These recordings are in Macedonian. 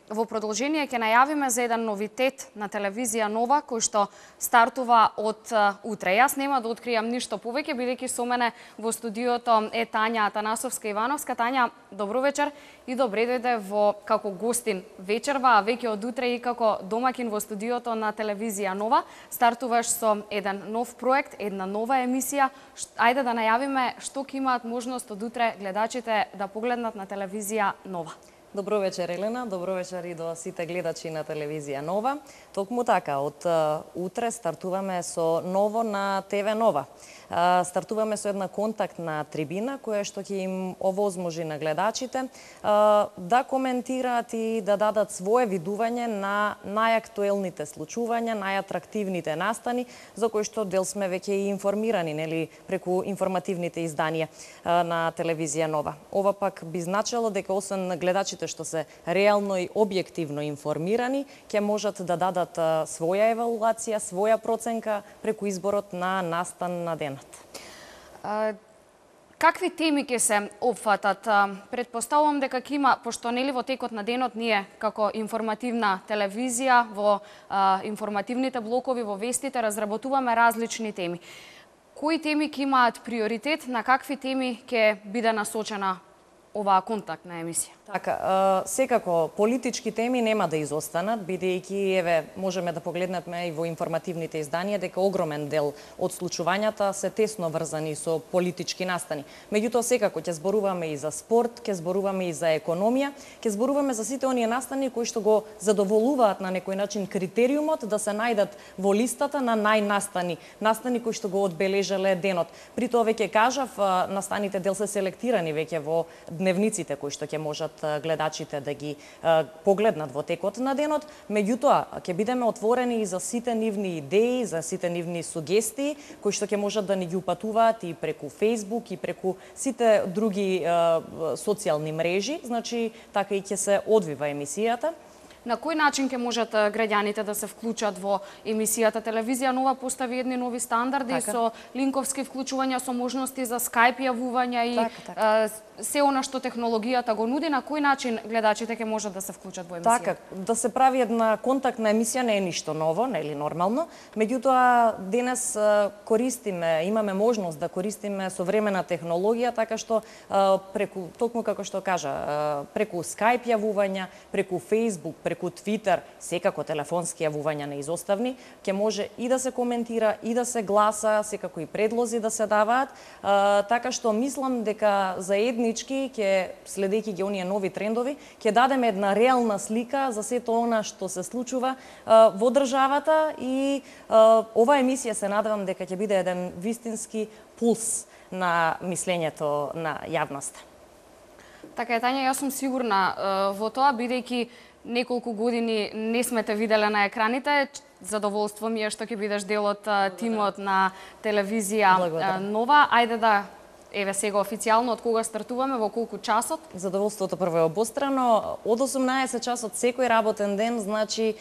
Во продолжение ќе најавиме за еден новитет на телевизија Нова, кој што стартува од утре. Јас нема да откријам ништо повеќе, бидејќи со мене во студиото е Тања Атанасовска-Ивановска. Тања, добро вечер и добре дојде во како гостин вечерва, а веќе од утре и како домакин во студиото на телевизија Нова. Стартуваш со еден нов проект, една нова емисија. Ајде да најавиме што ќе имаат можност од утре гледачите да погледнат на телевизија Нова. Добро вечер, Елена. Добро вечер и до сите гледачи на телевизија Нова. Токму така, од утре стартуваме со ново на ТВ Нова. Стартуваме со една контактна трибина која што ќе им овозможи на гледачите да коментираат и да дадат свое видување на најактуелните случувања, најатрактивните настани за кои што дел сме веќе и информирани, нели, преку информативните изданија на телевизија Нова. Ова пак би значило дека освен гледачите што се реално и објективно информирани, ќе можат да дадат своја евалуација, своја проценка преку изборот на настан на денот. Какви теми ќе се опфатат? Предпоставувам дека ќе има, пошто нели во текот на денот ние како информативна телевизија во информативните блокови во вестите разработуваме различни теми. Кои теми ќе имаат приоритет, на какви теми ќе биде насочена оваа контактна емисија? Така, секако политички теми нема да изостанат, бидејќи еве можеме да погледнеме и во информативните изданија дека огромен дел од случувањата се тесно врзани со политички настани. Меѓутоа секако ќе зборуваме и за спорт, ќе зборуваме и за економија, ќе зборуваме за сите оние настани кои што го задоволуваат на некој начин критериумот да се најдат во листата на најнастани, настани кои што го одбележале денот. При тоа веќе кажав, настаните дел се селектирани веќе во дневниците кои што ќе можат гледачите да ги погледнат во текот на денот, меѓутоа ќе бидеме отворени и за сите нивни идеи, за сите нивни сугестии кои што ќе можат да ни ги упатуваат и преку Facebook и преку сите други социјални мрежи, значи така и ќе се одвива емисијата. На кој начин ќе можат граѓаните да се вклучат во емисијата? Телевизија Нова постави едни нови стандарди со линковски вклучувања, со можности за Skype јавувања и се она што технологијата го нуди. На кој начин гледачите ќе можат да се вклучат во емисијата? Така, да се прави една контактна емисија не е ништо ново, нели нормално. Меѓутоа денес користиме, имаме можност да користиме современа технологија, така што преку, токму како што кажа, преку Skype јавувања, преку Facebook, преку Twitter, секако телефонски јавувања неизоставни, ќе може и да се коментира, и да се гласа, секако и предлози да се даваат, така што мислам дека заеднички ќе, следејќи ги оние нови трендови, ќе дадеме една реална слика за сето она што се случува во државата и оваа емисија се надевам дека ќе биде еден вистински пулс на мислењето на јавноста. Така е, Тања, јас сум сигурна во тоа, бидејќи неколку години не сме те виделе на екраните. Задоволство ми е што ќе бидеш дел од тимот на телевизија Нова. Ајде да, еве сега официјално, од кога стартуваме, во колку часот? Задоволството прво е обострано. Од 18 часот секој работен ден, значи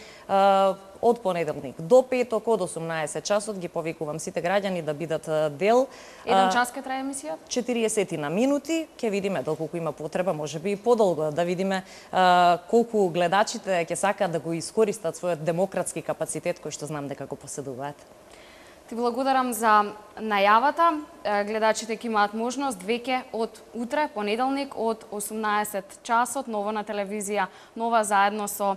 од понеделник до петок од 18 часот ги повикувам сите граѓани да бидат дел. Еден час ќе трае емисијата? 40 на минути, ќе видиме доколку има потреба, можеби и подолго, да видиме колку гледачите ќе сакаат да го искористат својот демократски капацитет кој што знам дека го поседуваат. Ти благодарам за најавата. Гледачите ќе имаат можност веќе од утре, понеделник, од 18 часот, ново на телевизија Нова, заедно со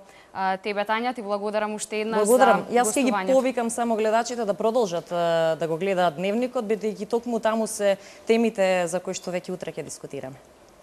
тебе, Тања. Ти благодарам уште еднаш за гостувањето. Јас ќе ги повикам само гледачите да продолжат да го гледаат дневникот, бидејќи токму таму се темите за кои што веќе утре ќе дискутираме.